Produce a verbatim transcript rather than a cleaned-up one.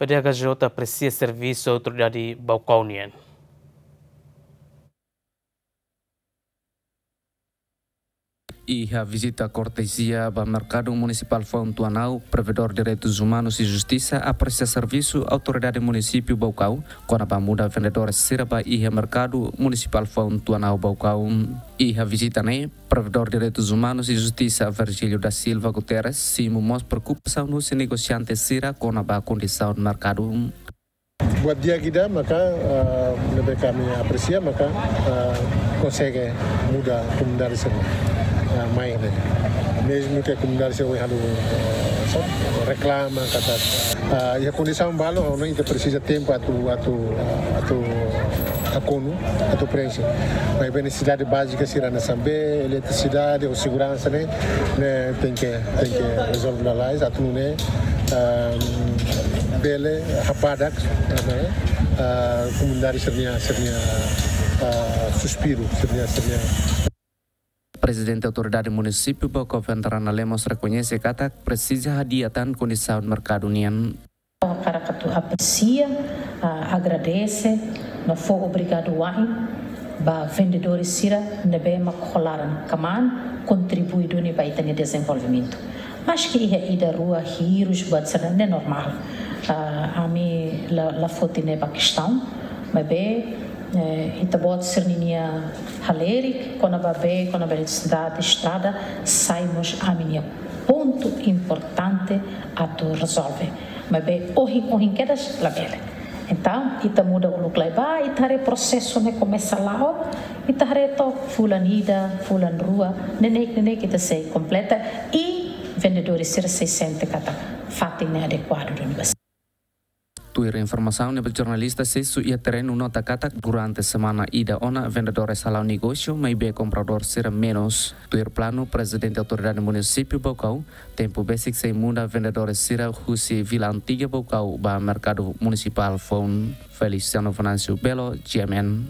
D H J apresia servisu autoridade Baucau nian. Iha vizita kortezia ba Merkadu Munisipál Foun Tuanau, Provedór Direitus Umanus i Justisa apresia servisu Autoridade Munisípiu Baucau kona-ba muda vendedores sira ba iha Merkadu Munisipál Foun Tuanau Baucau. Iha vizita ne'e, Provedór Direitus Umanus i Justisa Virgílio da Silva Guterres simu mós preokupasaun husi negosiante sira kona-ba kondisaun merkadu. Buat di'ak ida maka, ah, ne'ebé ami apresia maka, ah, konsege muda komunidade sira, ah, mai ne'e. Mezmu ke komunidade sira ohin halo, ah, saida, reklama katak, ah, iha kondisaun balu, ha'u hanoin ita presiza tempu atu, atu, atu hakonu, atu preenxe. Maibé nesesidade bázika sira hanesan bee, eletrisidade, ou seguransa ne'e, ne'e tenke, tenke rezolve lalais, atu nune'e, ah, bele habadak, eh, eh, komunidade sira-nia, sira-nia, eh, suspiru, sira-nia, sira-nia. Prezidente Autoridade Munisípiu Baucau Vendrana Lemos rekoñese katak presiza hadi'a tan kondisaun merkadu nian. Hakarak atu apresia, ah, agradese, no fó obrigadu wa'in ba vendedores sira ne'ebé mak ho laran kmaan kontribui duni ba ita-nia dezenvolvimentu. Maski iha ida rua hirus buat sira ne'e normál. Ah, ami la, la foti ne'e ba kestaun, maibé, eh, ita-boot sira-nia halerik kona-ba bee, kona-ba eletrisidade, estrada, sai mós ami-nia pontu importante atu rezolve. Maibé ohin, ohin kedas labele. Entaun, ita muda uluk lai ba, ita haree prosesu ne'e komesa la'o, ita haree to'ok fulan ida, fulan rua, neineik, neineik ita sei kompleta, i vendedores sira sei sente katak fatin ne'e adekuadu duni ba sira. Tuir informasaun ne'ebé jornalista sesu iha terrenu nota katak durante semana ida ona vendedores hala'o negósiu, maibé kompradór sira menus. Tuir planu, Prezidente Autoridade Munisípiu Baucau, tempu besik sei muda vendedores sira husi Vila Antiga Baucau ba Merkadu Munisipál Foun. Feliciano Venâncio Belo, G M N.